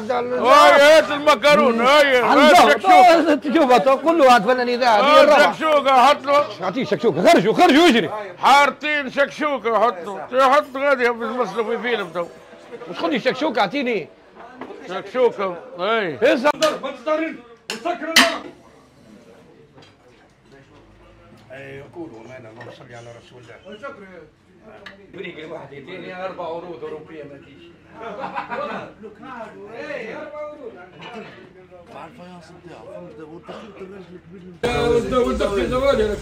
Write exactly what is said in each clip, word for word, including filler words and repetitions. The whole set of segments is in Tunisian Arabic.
هاي هات المكرون، هاي هات شكشوكه. تشوفها تقول له عاد فنان اذاعة هذه الرابعة. شكشوكه حط له، اعطيه شكشوكه، خرجوا خرجوا اجري. حارتين شكشوكه حط له، حط غادي باش نمثلوا في فيلم تو. مش خذي شكشوكه اعطيني شكشوكه. اي هز ما تسترن وتسكر النار. اي قولوا امانه اللهم صل على رسول الله. بريق الواحد يديني اربع عروض اوروبية ما تجيش. اي اربع عروض مع ال faïence نتاعو فهمت، والتخيط الراجل الكبير والدخل زوالي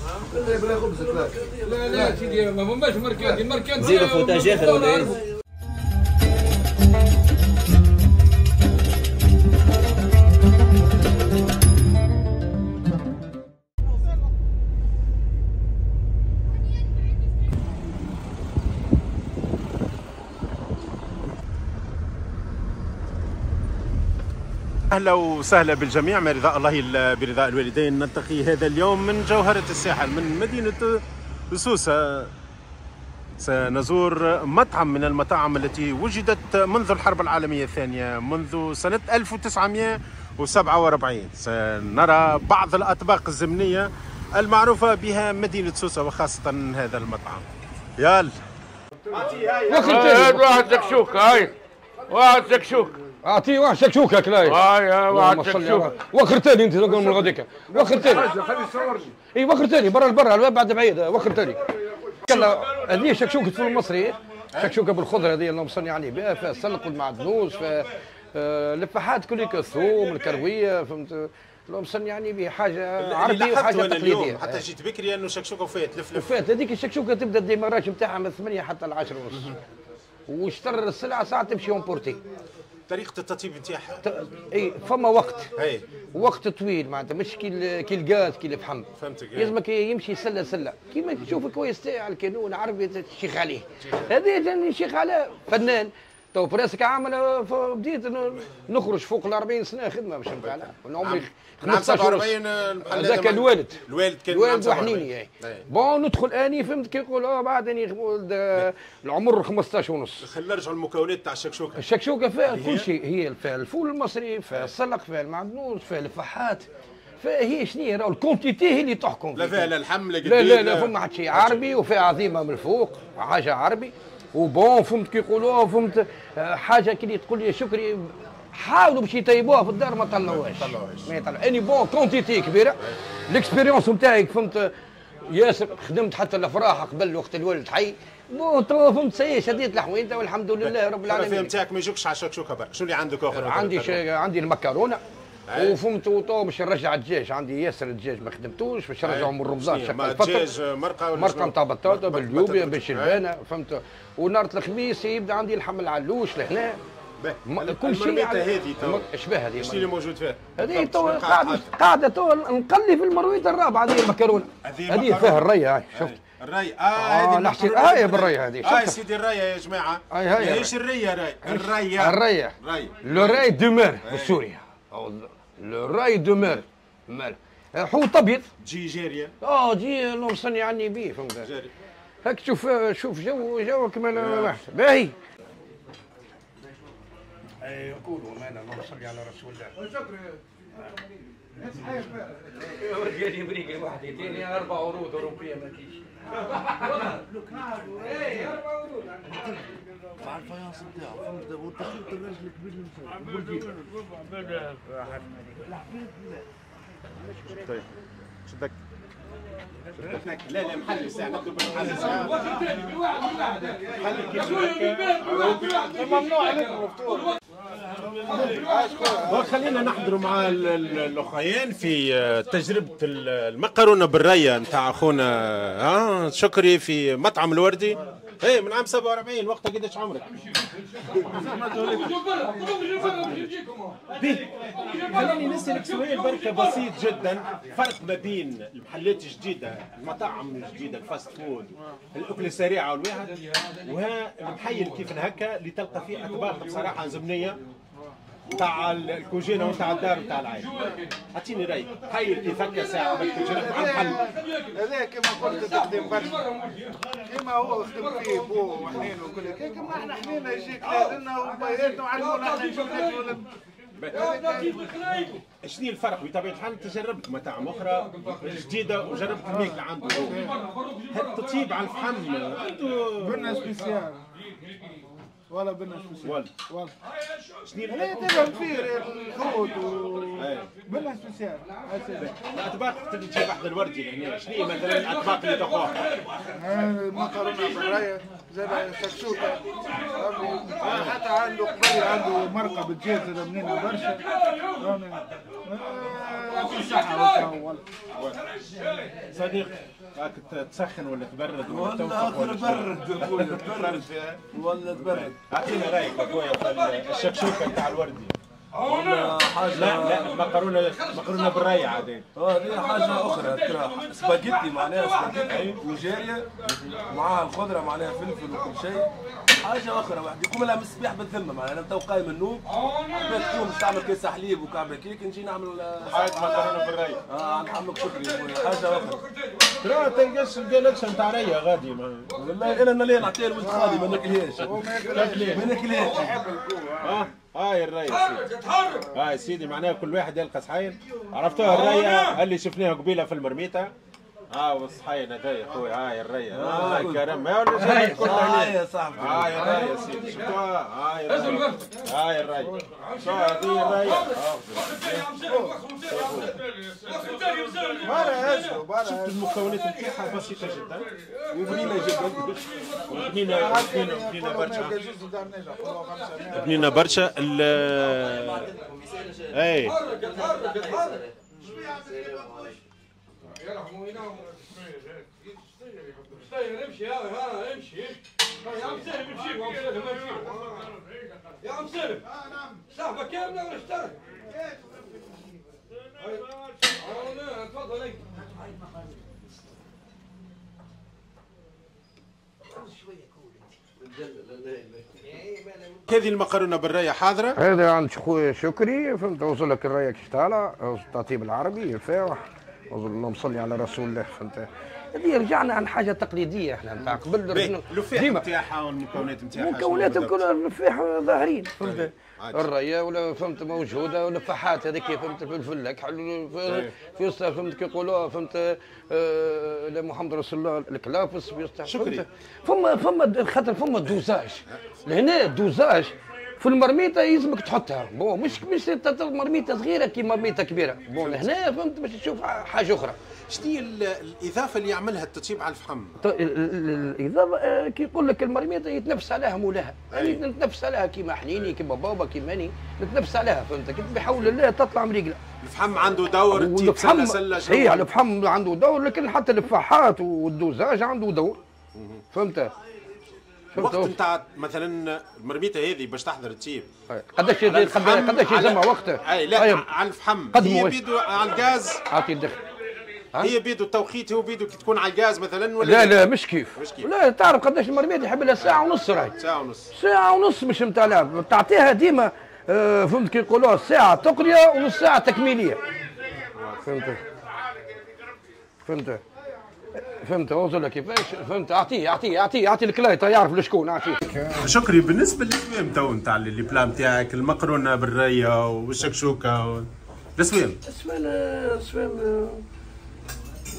لا خبز لا لا سيدي ما فماش مركاتي مركاتي زيدوا فوتاج اخر ولا ايه؟ اهلا وسهلا بالجميع، ما رضاء الله برضاء الوالدين. نلتقي هذا اليوم من جوهرة الساحل من مدينة سوسة. سنزور مطعم من المطاعم التي وجدت منذ الحرب العالمية الثانية، منذ سنة ألف وتسعمئة وسبعة وأربعين. سنرى بعض الأطباق الزمنية المعروفة بها مدينة سوسة وخاصة هذا المطعم. يلا واحد شكشوكة، هاي واحد شكشوكة، اعطيه واحد شكشوكه كلاي. هاي واحد شكشوكه. وخر ثاني انت تقول من غاديك، وخر ثاني. خليه يصورني. اي وخر ثاني برا البرا بعد بعيد، وخر ثاني. هذه شكشوكه فول المصري، شكشوكه بالخضره هذه اللهم صل على النبي، فيها السلق والمعدنوس، فيها اللفاحات كليك، الثوم، الكروية، فهمت؟ اللهم صل على النبي، حاجة عربية وحاجه تقليدية. حتى جيت بكري انه شكشوكه وفات لف لف. وفات هذيك الشكشوكه تبدا ال démarrage نتاعها من ثمانية حتى العشرة ونص. واشتر السلعة ساعة تمشي emporter. طريقة التطيب نتاعها اي فما وقت، اي وقت طويل معناتها، مش كي كي الغاز كي الفحم، فهمتك. لازمك يمشي سله سله، كيما تشوف كويس تاع الكانون عربي تشيخ عليه، هذا جاني نشيخ على فنان تو presque عامل. بديت نخرج فوق ال أربعين سنة خدمة باش نتاع عمري خمسطاش وأربعين. هذاك الوالد الوالد كان الوالد وحنيني. bon ندخل اني فهمت كي يقول اه بعد اني العمر خمسطاش ونص. خلينا نرجعوا للمكونات تاع الشكشوكه. الشكشوكه فيها كل شيء، هي فيها الفول المصري، فيها السلق، فيها المعدنوس، فيها الفحات، فهي شنو راهو ال quantité هي اللي تحكم. لا فيها لا اللحم لا لا لا لا فما حتى شيء عربي، وفيها عظيمة من الفوق، حاجة عربي و bon فهمت كي يقولوها، فهمت حاجة كي تقول لي شكري حاولوا باش يطيبوها في الدار ما طلعوهاش، ما يطلعوهاش. اني bon quantité كبيرة، ال expérience نتاعي فهمت ياسر، خدمت حتى الافراح قبل وقت الوالد حي، bon توا فهمت ça y est شديت الحوينته والحمد لله رب العالمين. الفهم نتاعك ما يجوكش على الشكشوكه برك، شنو اللي عندك اخر؟ عندي شي... عندي المكرونه وفهمت وتو باش نرجع الدجاج، عندي ياسر الدجاج ما خدمتوش باش نرجعه من رمضان. شق الدجاج مرقه ولا مرقه نتاع بطاطا باللوبيا بالشلبانه فهمت. ونهار الخميس يبدا عندي لحم العلوش لهنا. كل شيء هذه تو اشبه هذه شنو اللي موجود فيها؟ هذه تو قاعدة قاعدة تو نقلي في المرويط الرابعة. هذه المكرونه هذه فيها الريه، هاي شفت الري. اه هذه آه هاي بالريه هذه. اه سيدي الريه يا جماعة، ماهيش الريه، راي الريه الريه le raie de mer بالسوري، le raie de mer مال حوت ابيض تجي جارية. اه تجي اللهم صل على النبي فهمت. هاك تشوف شوف جو جو كما واحد باهي. اي قولوا امانه اللهم صل على رسول الله. قال بريق الواحد يديني اربع عروض اوروبية ما تجيش. اي اربع عروض مع ال faïence نتاعو فهمت، والتخيط الراجل الكبير اللي طيب شدك لا لا محل ساعة نبدو بالمحل ساعة. ممنوع عليكم الفطور. خلينا نحضروا مع الاخوين في تجربه المكرونه بالريه نتاع اخونا ها شكري في مطعم الوردي. ايه من عام سبعة وأربعين. وقتها قداش عمرك؟ خليني نسألك سؤال بركة بسيط جدا، فرق ما بين المحلات الجديدة، المطاعم الجديدة، ال fast food، الأكل السريعة والواحد، وها المحيل كيف هكا اللي تلقى فيه أطباق بصراحة زمنية تاع الكوجينه وتاع الدار وتاع العائلة. اعطيني رايك، حير كيف هكا ساعة عملت تجربه مع الحل. هذا كما قلت تخدم برشا كما هو خدم فيه بوه وحنين وكل كما احنا حنينا يجيك لنا وبياتنا وعلمونا احنا نجيو ناكلوا. شنو الفرق؟ بطبيعة الحال انت جربت مطاعم اخرى جديدة وجربت الماكلة عنده، التطيب على الفحم عنده بنه spéciale ولا بنه spéciale ولا ولا شنو اللي تفهم فيه الحوت و بنه spéciale. الاطباق اللي تجيب احد الوردي لهنا شنو مثلا الاطباق اللي تاخوها؟ مكرونه بالرايه زاد شكشوكه، حتى عنده قبل عنده مرقه بالدجاج زاد بنينه برشا. يعطيه الصحة والله. صديق راك تسخن ولا تبرد ولا توفق ولا تبرد يا خويا؟ تبرد ولا تبرد. اعطينا رايك يا خويا في الشكشوكه نتاع الوردي. والله حاجة لا لا المكرونه مكرونه بالري عادي. اه هذه حاجة اخرى ترى سباجيتي معناها سباجيتي وجاريه معاها الخضرة معناها فلفل وكل شيء، حاجة اخرى واحد يقوم لها من الصباح بالذمه معناها. انا تو قايم من النوم تقوم تعمل كيس حليب وكعبه كيك نجي نعمل حاجة مكرونه بالري. اه عند عمك شكري يا خويا حاجة اخرى. ترى تلقاش الجالكس نتاع ريه غادي. والله انا اللي نعطيها لولد خالي ما ناكلهاش ما ناكلهاش. اه هاي الريه سيدي، هاي سيدي معناها كل واحد يلقى صحين. عرفتوها الريه اللي شفناها قبيلة في المرميته؟ اه والصحين هذا يا خويا. هاي الريه هاي كرم هاي هاي يا صاحبي. هاي الريه سيدي شفتوها؟ هاي الريه هاي الريه شو هذه الريه؟ شفت المكونات نتاعها بسيطة جدا وبنينه جدا وبنينه بنينه بنينه برشا بنينه برشا. اي امشي ها امشي يا عم سالم، امشي يا عم سالم، يا عم سالم صاحبك كاملة ولا اشترك؟ تفضل. هذه المقرونه بالريه حاضره. هذا عند خويا شكري فهمت، وصل لك الريه كيش طالع، التطيب العربي الفاوح، اللهم صل على رسول الله فهمت. هذه رجعنا عن حاجة تقليدية احنا نتاع قبل. اللفاح نتاعها والمكونات نتاعها، المكونات الكل اللفاح ظاهرين فهمت، الريه ولا فهمت موجودة، واللفاحات هذيك فهمت، الفلفل الكحل في وسطها فهمت كي يقولوها فهمت، آه محمد رسول الله الكلافس في وسطها. شكري فما فما خاطر فما dosage لهنا، dosage في المرميطه يلزمك تحطها bon، مش مش مرميطه صغيرة كي مرميطه كبيرة bon هنا فهمت باش تشوف حاجة اخرى. شنو هي الاضافة اللي يعملها التطيب على الفحم؟ الاضافة كي يقول لك المرميطه يتنفس عليها مولاها، يعني نتنفس عليها كيما حنيني كيما بابا كيما اني نتنفس عليها فهمت، بحول الله تطلع مريقله. الفحم عنده دور، التيب سله سله صحيح الفحم عنده دور، لكن حتى الفحات وال dosage عنده دور فهمت. الوقت نتاع مثلا المرميته هذه باش تحضر التيب قداش قداش يلزمها وقتها؟ اي لا على الفحم هي بيدو على الغاز اعطي الدخل هي بيدو التوقيت هو بيدو كي تكون على الغاز مثلا ولا لا؟ لا مش كيف. مش كيف. لا تعرف قداش المرميته يحب لها ساعة ونص راهي. ساعة ونص ساعة ونص مش نتاع لعب، تعطيها ديما آه فهمت كي يقولوها ساعة تقريه ونص ساعة تكميليه فهمت فهمت فهمت وصل كيفاش فهمت. اعطيه اعطيه اعطيه اعطي الكلايطه يعرف لشكون اعطيه. شكري بالنسبة للاسوام تو نتاع les plats نتاعك المقرونه بالريه والشكشوكه و... الاسوام الاسوام الاسوام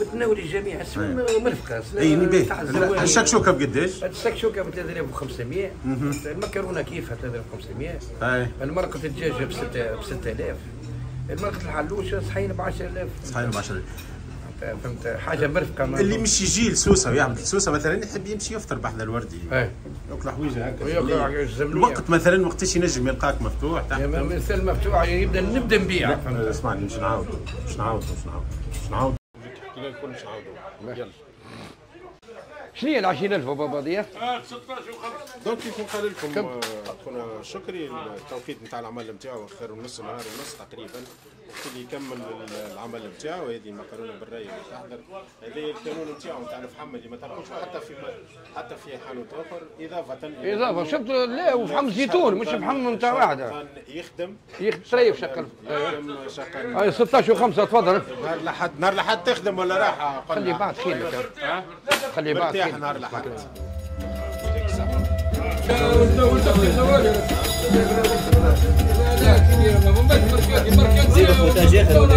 متناول الجميع، اسوام مرفقه. اي باهي. الشكشوكه بقداش؟ الشكشوكه ب ثلاثة آلاف وخمسمية، المكرونه كيفها ثلاثة آلاف وخمسمية، المرقه الدجاج ب ستة آلاف، المرقه الحلوشه صحيح ب عشرة آلاف. صحيح ب عشرة آلاف فهمت، حاجة مرفقه. اللي مش يجي لسوسه ويعمل لسوسه مثلا يحب يمشي يفطر بحذا الوردي ايه ياكل حويجه هكا. الوقت مثلا وقتاش ينجم يلقاك مفتوح تحت؟ مثل مفتوح يبدا نبدا نبيع. اسمعني باش نعاود باش نعاود باش نعاود باش نعاود الكل باش نعاودوا. يلا شنو هي ال عشرين ألف بابا دي؟ donc كيف قال لكم خونا شكري التوقيت نتاع العمل نتاعو خير ونص نهار ونص تقريبا وقت اللي يكمل العمل نتاعو. هذه المكرونه بالري اللي تحضر، هذه الكانون نتاعو نتاع الفحم اللي ما تلقوش حتى في حتى في حانوت اخر، اضافه اضافه شفت. لا وفحم زيتون مش فحم نتاع واحدة. يخدم يخدم تريف شقل يخدم شقل. هاي ستة عشر وخمسة تفضل. نهار لحد نهار لحد تخدم ولا راحة؟ خلي بعد خير لك، خلي بعد مرتاح نهار لحد. زيدوا فوتاج اخر.